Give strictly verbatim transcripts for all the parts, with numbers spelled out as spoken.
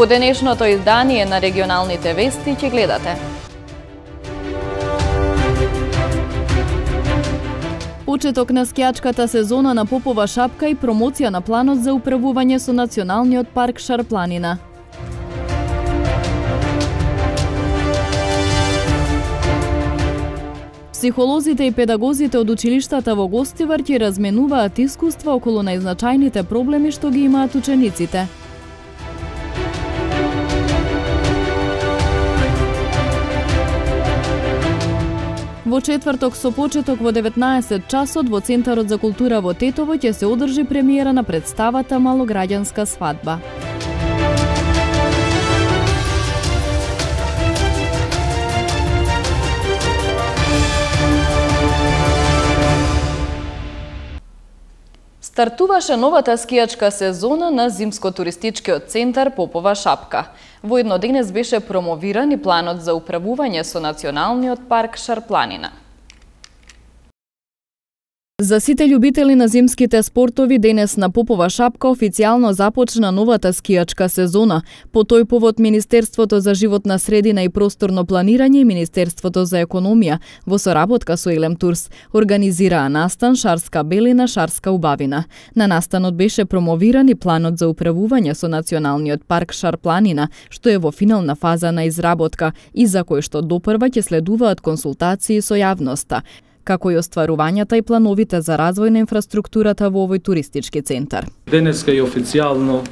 денешното издание на регионалните вести ќе гледате. Почеток на скијачката сезона на Попова шапка и промоција на планот за управување со Националниот парк Шарпланина. Психолозите и педагозите од училиштата во Гостивар ќе разменуваат искуства околу најзначајните проблеми што ги имаат учениците. Во четврток со почеток во деветнаесет часот во Центарот за култура во Тетово ќе се одржи премиера на представата Малограѓанска свадба. Стартуваше новата скијачка сезона на Зимско-туристичкиот центар Попова шапка. Воедно денес беше промовиран и планот за управување со Националниот парк Шарпланина. За сите љубители на зимските спортови, денес на Попова шапка официјално започна новата скијачка сезона. По тој повод Министерството за животна средина и просторно планирање и Министерството за економија во соработка со Елем Турс организираа настан Шарска белина, Шарска убавина. На настанот беше промовиран и планот за управување со Националниот парк Шарпланина, што е во финална фаза на изработка и за кој што допрва ќе следуваат консултации со јавноста, како и остварувањата и плановите за развој на инфраструктурата во овој туристички центар. Денеска и официјално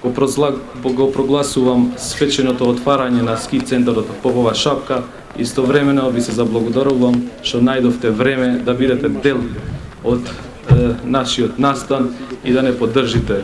го, го прогласувам свеченото отварање на ски центарот Попова шапка. Истовремено ви се заблагодарувам што најдовте време да бидете дел од е, нашиот настан и да не поддржите.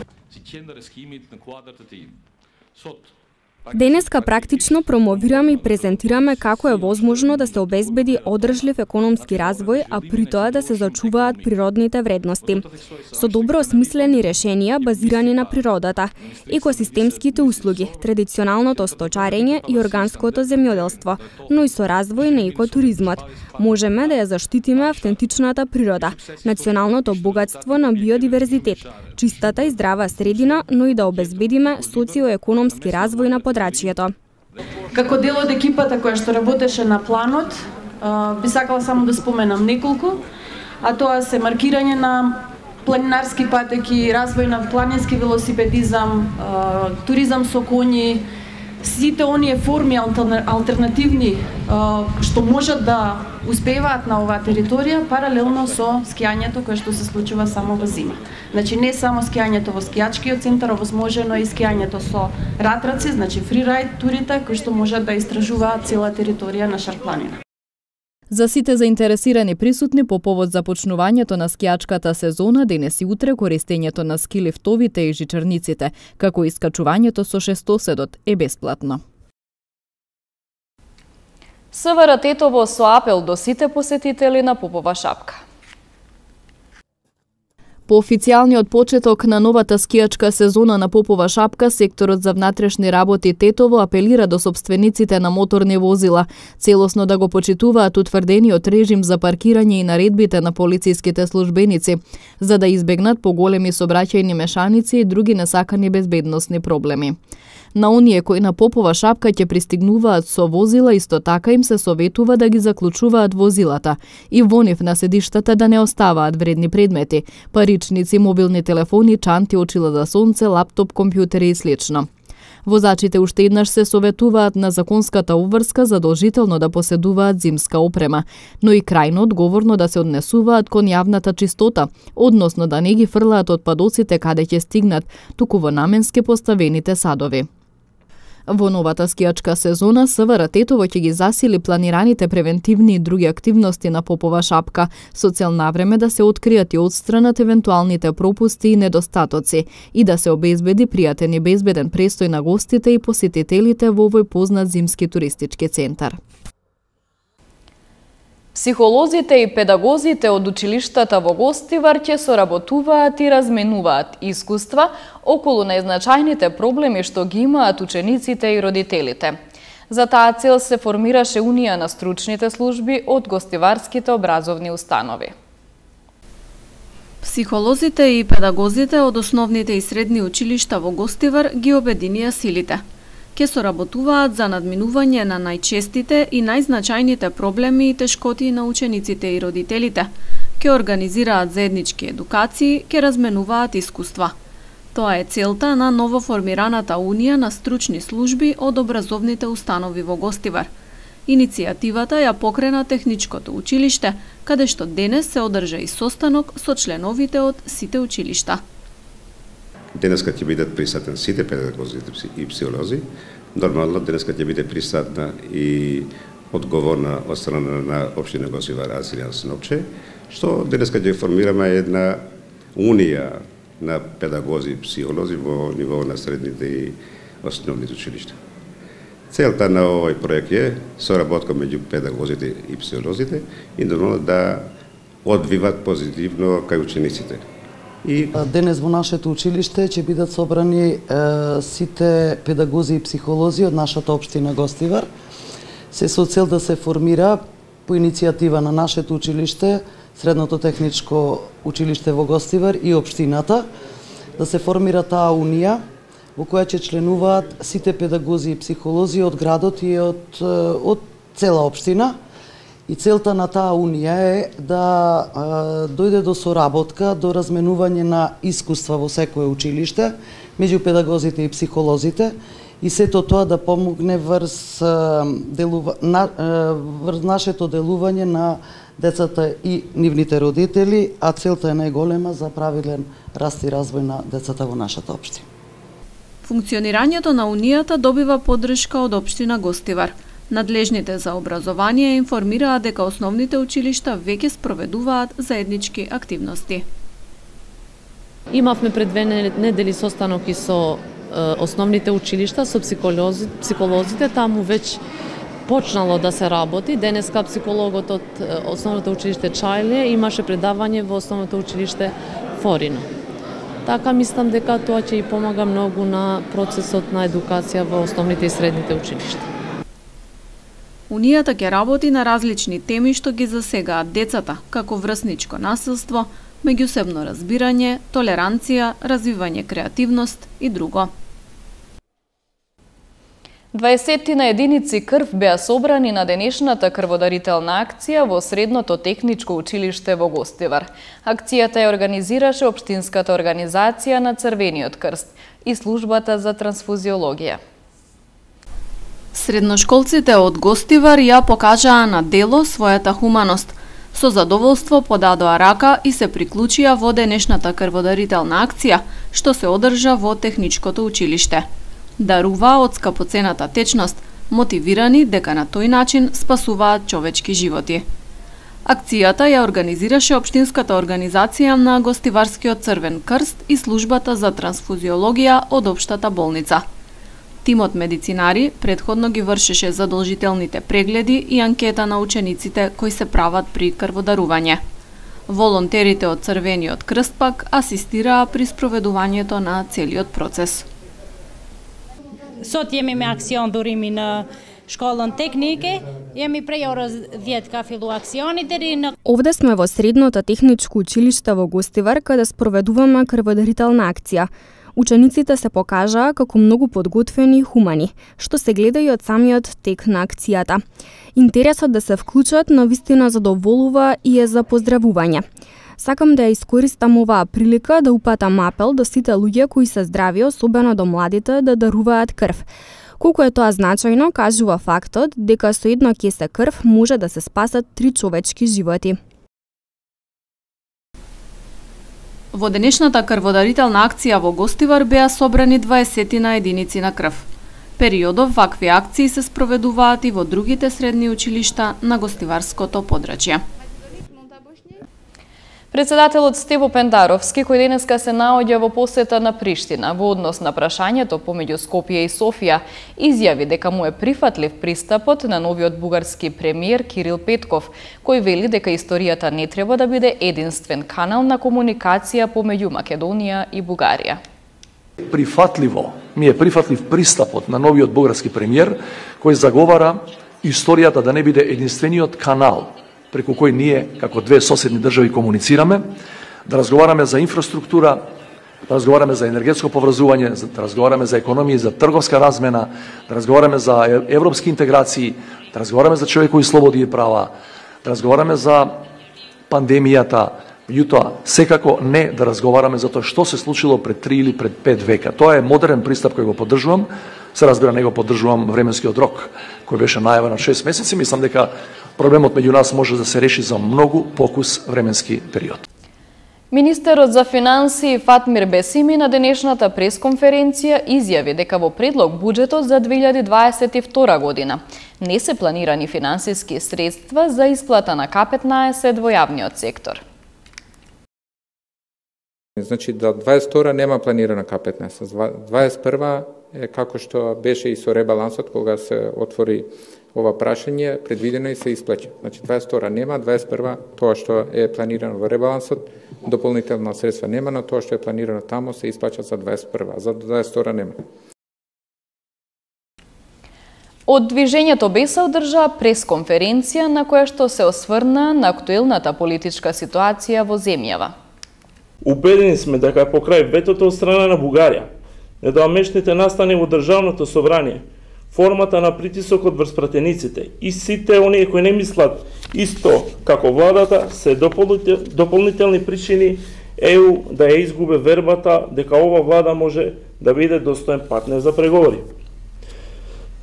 Денеска практично промовираме и презентираме како е возможно да се обезбеди одржлив економски развој, а при тоа да се зачуваат природните вредности. Со добро осмислени решенија базирани на природата, екосистемските услуги, традиционалното сточарење и органското земјоделство, но и со развој на екотуризмот, можеме да ја заштитиме автентичната природа, националното богатство на биодиверзитет, чистата и здрава средина, но и да обезбедиме социоекономски развој на подрачјето. Како дел од екипата која што работеше на планот, би сакала само да споменам неколку, а тоа се маркирање на планинарски патеки, развој на планински велосипедизам, туризам со коњи, сите оние форми алтернативни што можат да успеваат на оваа територија паралелно со скијањето кое што се случува само во зима. Значи не само скијањето во скијачкиот центар, овозможено и скијањето со ратраци, значи фрирајд турите кои што можат да истражуваат цела територија на Шарпланина. За сите заинтересирани присутни по повод започнувањето на скијачката сезона, денес и утре користењето на скилифтовите и жичарниците, како и искачувањето со шестоседот е бесплатно. СВР Тетово со апел до сите посетители на Попова шапка. По официјалниот почеток на новата скијачка сезона на Попова шапка, секторот за внатрешни работи Тетово апелира до собствениците на моторни возила целосно да го почитуваат утврдениот режим за паркирање и наредбите на полициските службеници, за да избегнат поголеми сообраќајни мешаници и други несакани безбедносни проблеми. На оние кои на Попова шапка ќе пристигнуваат со возила, исто така им се советува да ги заклучуваат возилата и во нив на седиштата да не оставаат вредни предмети, паричници, мобилни телефони, чанти, очила за сонце, лаптоп, компјутери и слично. Возачите уште еднаш се советуваат на законската обврска задолжително да поседуваат зимска опрема, но и крајно одговорно да се однесуваат кон јавната чистота, односно да не ги фрлаат отпадоците каде ќе стигнат, туку во наменски поставените садови. Во новата скијачка сезона СВР Тетово ќе ги засили планираните превентивни и други активности на Попова шапка, со цел навреме да се откријат и отстранат евентуалните пропусти и недостатоци и да се обезбеди пријатен и безбеден престој на гостите и посетителите во овој познат зимски туристички центар. Психолозите и педагозите од училиштата во Гостивар ќе соработуваат и разменуваат искуства околу најзначајните проблеми што ги имаат учениците и родителите. За таа цел се формираше Унија на стручните служби од гостиварските образовни установи. Психолозите и педагозите од основните и средни училишта во Гостивар ги обединија силите. ќе соработуваат за надминување на најчестите и најзначајните проблеми и тешкоти на учениците и родителите, ќе организираат заеднички едукации, ќе разменуваат искуства. Тоа е целта на новоформираната Унија на стручни служби од образовните установи во Гостивар. Иницијативата ја покрена Техничкото училиште, каде што денес се одржа и состанок со членовите од сите училишта. Денеска ќе бидат присутни сите педагози и психолози. Нормално денеска ќе биде присутна и одговорна од страна на општина Гостивар Асилјан Сновче, што денеска ќе формираме една унија на педагози и психолози во ниво на средните и основните училишта. Целта на овој проект е соработка меѓу педагозите и психолозите и да одвиват позитивно кај учениците. И денес во нашето училиште ќе бидат собрани е, сите педагози и психолози од нашата општина Гостивар, се со цел да се формира по иницијатива на нашето училиште, Средното техничко училиште во Гостивар и општината, да се формира таа унија во која ќе членуваат сите педагози и психолози од градот и од, од цела општина. И целта на таа унија е да е, дојде до соработка, до разменување на искуства во секое училиште меѓу педагозите и психолозите и сето тоа да помогне врз, делува, на, врз нашето делување на децата и нивните родители, а целта е најголема за правилен раст и развој на децата во нашата општина. Функционирањето на Унијата добива поддршка од општина Гостивар. Надлежните за образование информираат дека основните училишта веќе спроведуваат заеднички активности. Имавме пред две недели состанок и со основните училишта, со психолози, психолозите, таму веќе почнало да се работи. Денеска психологот од основното училиште Чајле имаше предавање во основното училиште Форино. Така мислам дека тоа ќе и помага многу на процесот на едукација во основните и средните училишта. Унијата ќе работи на различни теми што ги засегаат децата, како врсничко насилство, меѓусебно разбирање, толеранција, развивање креативност и друго. дваесеттина единици крв беа собрани на денешната крводарителна акција во Средното техничко училиште во Гостивар. Акцијата ја организираше Општинската организација на Црвениот крст и службата за трансфузиологија. Средношколците од Гостивар ја покажаа на дело својата хуманост. Со задоволство подадоа рака и се приклучија во денешната крводарителна акција, што се одржа во Техничкото училиште. Даруваа од скапоцената течност, мотивирани дека на тој начин спасуваат човечки животи. Акцијата ја организираше Општинската организација на Гостиварскиот Црвен крст и службата за трансфузиологија од Општата болница. Тимот медицинари предходно ги вршеше задолжителните прегледи и анкета на учениците кои се прават при крводарување. Волонтерите од Црвениот крст пак асистираа при спроведувањето на целиот процес. Sot jemi me aksion durimi në shkollën teknike, jemi prej orës dhjetë ka fillu aksioni deri në... Овде сме во Средното техничко училиште во Гостивар, каде спроведуваме крводарителна акција. Учениците се покажаа како многу подготвени и хумани, што се гледа и од самиот тек на акцијата. Интересот да се вклучат навистина задоволува и е за поздравување. Сакам да ја искористам оваа прилика да упатам апел до сите луѓе кои се здрави, особено до младите, да даруваат крв. Колку е тоа значајно, кажува фактот дека со едно кесе крв може да се спасат три човечки животи. Во денешната крводарителна акција во Гостивар беа собрани дваесеттина единици на крв. Периодов вакви акции се спроведуваат и во другите средни училишта на Гостиварското подрачје. Председателот Стево Пендаровски, кој денеска се наоѓа во посета на Приштина во однос на прашањето помеѓу Скопје и Софија, изјави дека му е прифатлив пристапот на новиот бугарски премиер Кирил Петков, кој вели дека историјата не треба да биде единствен канал на комуникација помеѓу Македонија и Бугарија. Прифатливо, ми е прифатлив пристапот на новиот бугарски премиер, кој заговара историјата да не биде единствениот канал преку кој ние, како две соседни држави, комуницираме, да разговараме за инфраструктура, да разговараме за енергетско поврзување, да разговараме за економија, за трговска размена, да разговараме за европски интеграции, да разговараме за човекови слободи и права, да разговараме за пандемијата, меѓутоа секако не да разговараме за тоа што се случило пред три или пред пет века. Тоа е модерен пристап кој го поддржувам. Се разбира, не го поддржувам временскиот рок кој беше најавен на шест месеци. Мислам дека проблемот меѓу нас може да се реши за многу покус временски период. Министерот за финансии Фатмир Бесими на денешната пресконференција изјави дека во предлог буџетот за две илјади дваесет и втора година не се планирани финансиски средства за исплата на К петнаесет во јавниот сектор. Значи, до дваесет и втора нема планирана К петнаесет. дваесет и прва е како што беше и со ребалансот, кога се отвори ова прашање, предвидено и се исплаќа. Значи, дваесет и втора нема, дваесет и прва тоа што е планирано во ребалансот, дополнителна средства нема, но тоа што е планирано тамо се исплаќа за дваесет и прва, за дваесет и втора нема. Од движењето БЕСА одржа пресконференција на која што се осврна на актуелната политичка ситуација во земјава. Убедени сме дека покрај ветото од страна на Бугарија, недоамешните настани во државното собрание, формата на притисокот врз пратениците и сите оние кои не мислат исто како владата се дополнителни причини ЕУ да ја изгубе вербата дека ова влада може да биде достоен партнер за преговори.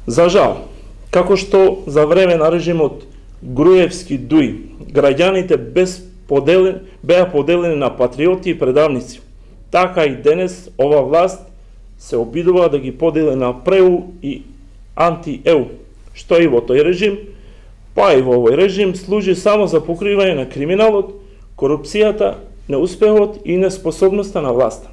За жал, како што за време на режимот Груевски-Дуј, граѓаните без поделен, беа поделени на патриоти и предавници, така и денес ова власт се обидува да ги подели на преу и анти-ЕУ, што и во тој режим, па и во овој режим служи само за покривање на криминалот, корупцијата, неуспехот и неспособноста на власта.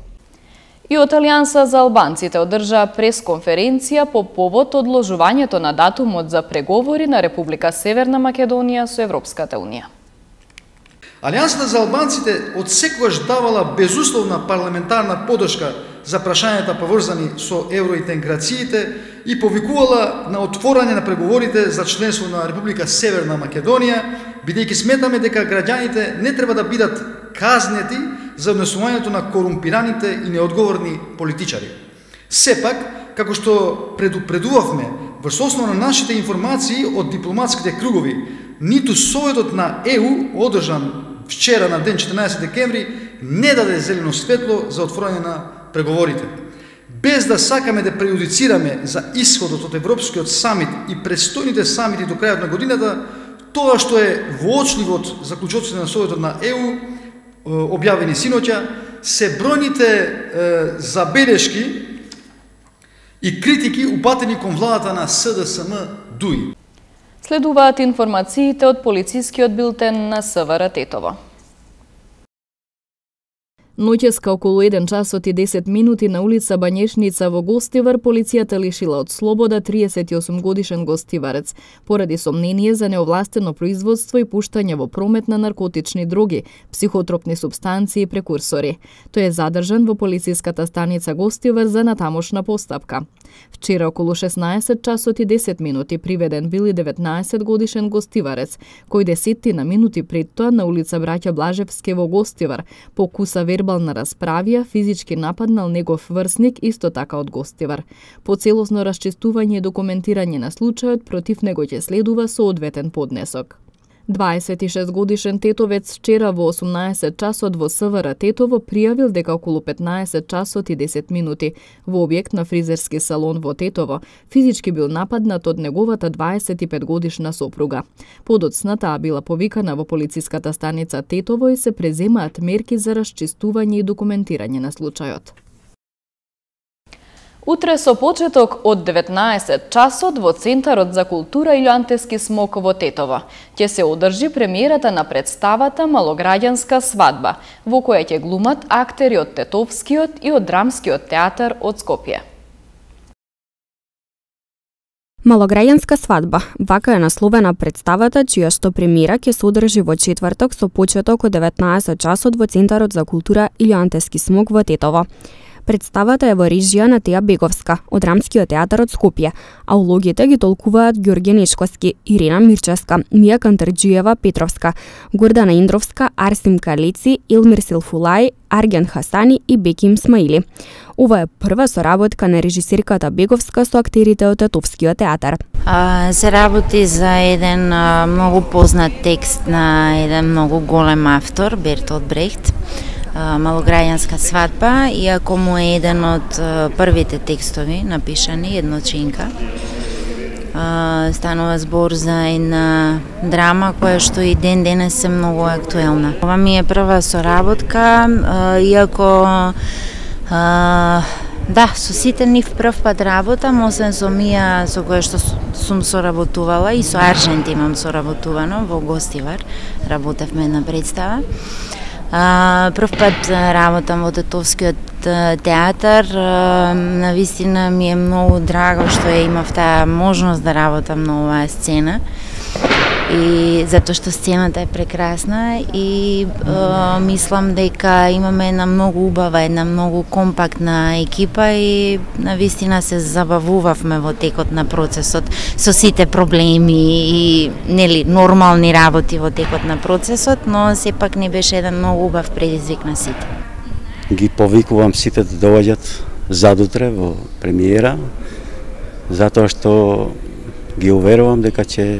И од Алијанса за албанците одржа пресконференција по повод одложувањето на датумот за преговори на Република Северна Македонија со Европската Унија. Алијансата за албанците од секогаш давала безусловна парламентарна подршка за прашањата поврзани со евроинтеграциите и повикувала на отворање на преговорите за членство на Република Северна Македонија, бидејќи сметаме дека граѓаните не треба да бидат казнети за однесувањето на корумпираните и неодговорни политичари. Сепак, како што предупредувавме врз основа на нашите информации од дипломатските кругови, ниту Советот на ЕУ, одржан вчера на ден четрнаесет декември, не даде зелено светло за отворање на преговорите. Без да сакаме да преюдицираме за исходот од Европскиот самит и престојните самити до крајот на годината, тоа што е воочливо од заклучоците на Советот на ЕУ, објавени синоќа, се бројните забелешки и критики упатени кон владата на СДСМ Дуј. Следуваат информациите од полицискиот билтен на СВР Тетово. Ноќеска околу еден часот и десет минути на улица Бањешница во Гостивар полицијата лишила од слобода триесет и осум годишен гостиварец поради сомнение за неовластено производство и пуштање во промет на наркотични дроги, психотропни супстанции и прекурсори. Тој е задржан во полициската станица Гостивар за натамошна постапка. Вчера околу шеснаесет часот и десет минути приведен бил и деветнаесет годишен гостиварец, кој десетина минути пред тоа на улица Браќа Блажевски во Гостивар покуса вербална расправија, физички нападнал негов врсник исто така од Гостивар. По целосно расчистување и документирање на случајот против него ќе следува соодветен поднесок. дваесет и шест годишен тетовец вчера во осумнаесет часот во СВР Тетово пријавил дека околу петнаесет часот и десет минути во објект на фризерски салон во Тетово физички бил нападнат од неговата дваесет и пет годишна сопруга. Подоцна таа била повикана во полициската станица Тетово и се преземаат мерки за расчистување и документирање на случајот. Утре со почеток од деветнаесет часот во Центарот за култура Илјантески смок во Тетово ќе се одржи премиерата на представата Малограѓанска свадба, во која ќе глумат актери од Тетовскиот и од Драмскиот театар од Скопје. Малограѓанска свадба. Вака е насловена представата, чија што премиера ќе се одржи во четврток со почеток од деветнаесет часот во Центарот за култура Илјантески смок во Тетово. Представата е во режија на Теја Беговска од Рамскиот театар од Скопје, а улогите ги толкуваат Ѓорѓе Нешковски, Ирина Мирчевска, Мија Кантарџиева Петровска, Гордана Индровска, Арсим Калеци, Илмир Силфулај, Арген Хасани и Беким Смаили. Ова е прва соработка на режисерката Беговска со актерите од Тетовскиот театар. А, се работи за еден а, многу познат текст на еден многу голем автор, Бертолт Брехт, а, Малограѓанска свадба, иако му е еден од а, првите текстови напишани, едночинка. А, станува збор за една драма која што и ден денес е многу актуелна. Ова ми е прва соработка, а, иако а, да, со сите нив прв пат работам, освен со Мија со која што сум соработувала и со Аржент имам соработувано во Гостивар, работевме една представа. А, прв пат работам во Тетовскиот театар, навистина ми е многу драго што ја имав таа можност да работам на оваа сцена, и затоа што сцената е прекрасна и е, мислам дека имаме една многу убава, една многу компактна екипа и навистина се забавувавме во текот на процесот со сите проблеми и нели нормални работи во текот на процесот, но сепак не беше еден многу убав предизвик на сите. Ги повикувам сите да доаѓат задутре во премиера, затоа што ги уверувам дека ќе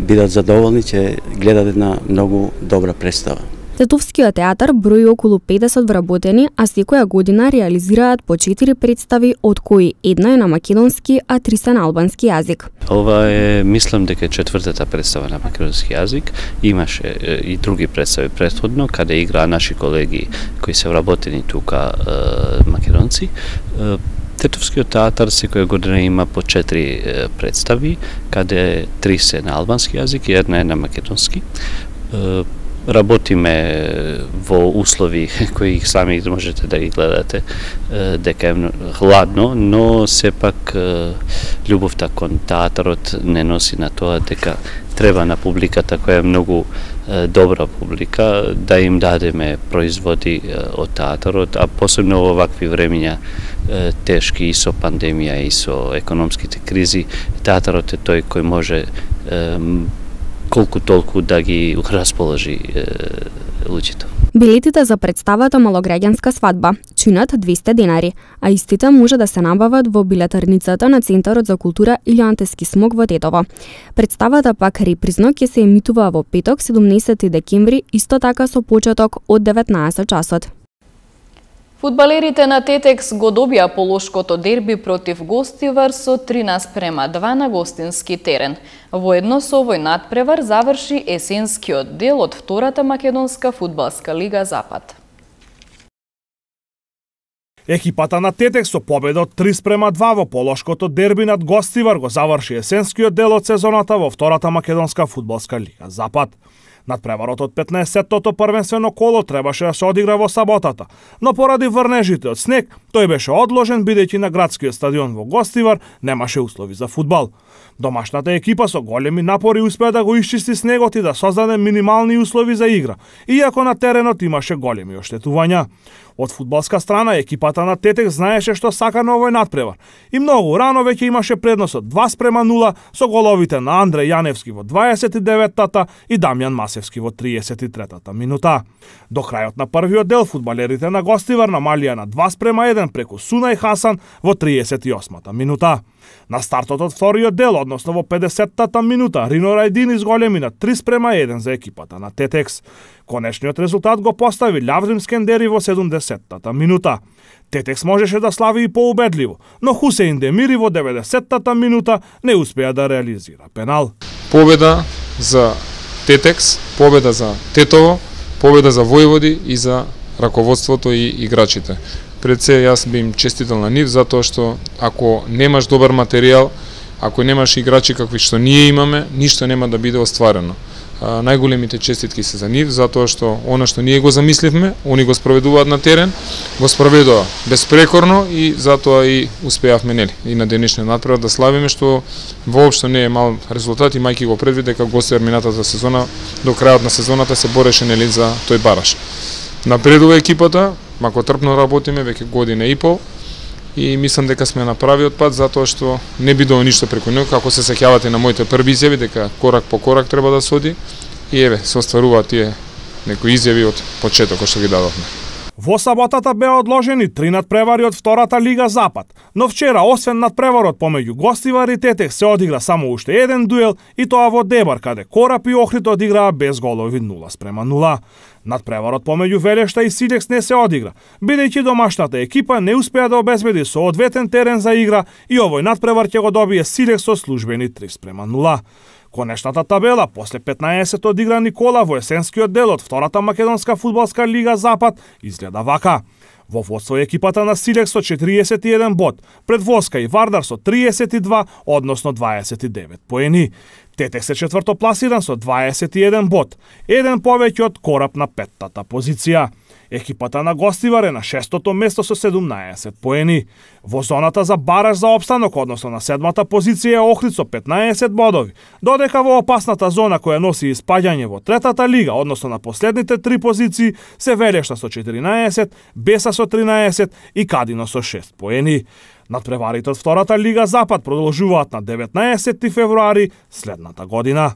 бидат задоволни, ќе гледат една многу добра представа. Тетовскиот театар брои околу педесет вработени, а секоја година реализираат по четири представи, од кои една е на македонски, а три се на албански јазик. Ова е, мислам дека четвртата представа на македонски јазик. Имаше и други представи претходно, каде играа наши колеги кои се вработени тука македонци. Тетовскиот театар секоја година има по четири представи, каде три се на албански јазик и една е на македонски. Работиме во услови кои сами можете да ги гледате, дека е хладно, но сепак љубовта кон театарот не носи на тоа дека треба на публиката која е многу добра публика да им дадеме производи од театарот, а посебно во вакви времиња тешки и со пандемија и со економските кризи, театарот е тој кој може колку толку да ги расположи луѓето. Билетите за представата Малограѓанска свадба чинат двесте денари, а истите може да се набават во билетарницата на Центарот за култура или Антески смок во Тетово. Представата пак репризно ќе се емитува во петок, седумнаесети декември, исто така со почеток од деветнаесет часот. Фудбалерите на Тетекс го добија полошкото дерби против Гостивар со три наспрема два на гостински терен. Воедно со овој надпревар заврши есенскиот дел од втората македонска фудбалска лига Запад. Екипата на Тетекс со победа од три спрема два во полошкото дерби над Гостивар го заврши есенскиот дел од сезоната во втората македонска фудбалска лига Запад. Надпреварот од петнаесеттото првенствено коло требаше да се одигра во саботата, но поради врнежите од снег, тој беше одложен бидејќи на градскиот стадион во Гостивар немаше услови за фудбал. Домашната екипа со големи напори успеа да го исчисти снегот и да создаде минимални услови за игра, иако на теренот имаше големи оштетувања. Од фудбалска страна, екипата на Тетек знаеше што сака на овој надпревар и многу рано веќе имаше предносот два спрема нула со головите на Андреј Јаневски во дваесет и деветата и Дамјан Масевски во триесет и третата минута. До крајот на првиот дел фудбалерите на Гостивар намалија на два спрема еден преку Сунај Хасан во триесет и осмата минута. На стартот од вториот дел, односно во педесеттата минута, Рино Рајдин изголеми на три спрема еден за екипата на Тетекс. Конечниот резултат го постави Лаврим Скендери во седумдесеттата минута. Тетекс можеше да слави и поубедливо, но Хусеин Демири во деветдесеттата минута не успеа да реализира пенал. Победа за Тетекс, победа за Тетово, победа за Војводи и за раководството и играчите. Пред се јас би им честитал на нив, затоа што ако немаш добар материјал, ако немаш играчи какви што ние имаме, ништо нема да биде остварено. А, најголемите честитки се за нив, затоа што она што ние го замисливме, они го спроведуваат на терен, го спроведува безпрекорно и затоа и успеавме нели и на денешниот надпревар да славиме, што воопшто не е мал резултат, имајќи го предвид дека Гостивар минатата сезона до крајот на сезоната се бореше нели за тој бараж. Напредува екипата, макотрпно работиме веќе година и пол и мислам дека сме на правиот пат затоа што не бидува ништо преку него, како се сеќавате на моите први изјави дека корак по корак треба да се оди и еве се остваруваат тие некои изјави од почетокот што ги дадовме. Во саботата беа одложени три надпревари од втората Лига Запад, но вчера освен надпреварот помеѓу Гостивар и Тетекс се одигра само уште еден дуел и тоа во Дебар каде Корап и Охрид одиграа без голови нула спрема нула. Надпреварот помеѓу Велешта и Силекс не се одигра, бидејќи домашната екипа не успеа да обезбеди соодветен терен за игра и овој надпревар ќе го добие Силекс со службени три спрема нула. Конечната табела после петнаесет одиграни кола во есенскиот дел од втората македонска фудбалска лига Запад изгледа вака. Во водство екипата на Силекс со четириесет и еден бод, пред Воска и Вардар со триесет и два, односно дваесет и девет поени. Тетекс е четврто пласиран со дваесет и еден бод, еден повеќе од Корап на петтата позиција. Екипата на Гостивар е на шестото место со седумнаесет поени. Во зоната за бараж за опстанок, односно на седмата позиција е Охрид со петнаесет бодови, додека во опасната зона која носи испаѓање во третата лига, односно на последните три позиции, се Велешта со четиринаесет, Беса со тринаесет и Кадино со шест поени. Надпреварите од втората Лига Запад продолжуваат на деветнаесети февруари следната година.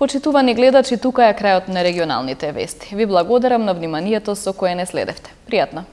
Почитувани гледачи, тука е крајот на регионалните вести. Ви благодарам на вниманието со кое не следевте. Пријатно!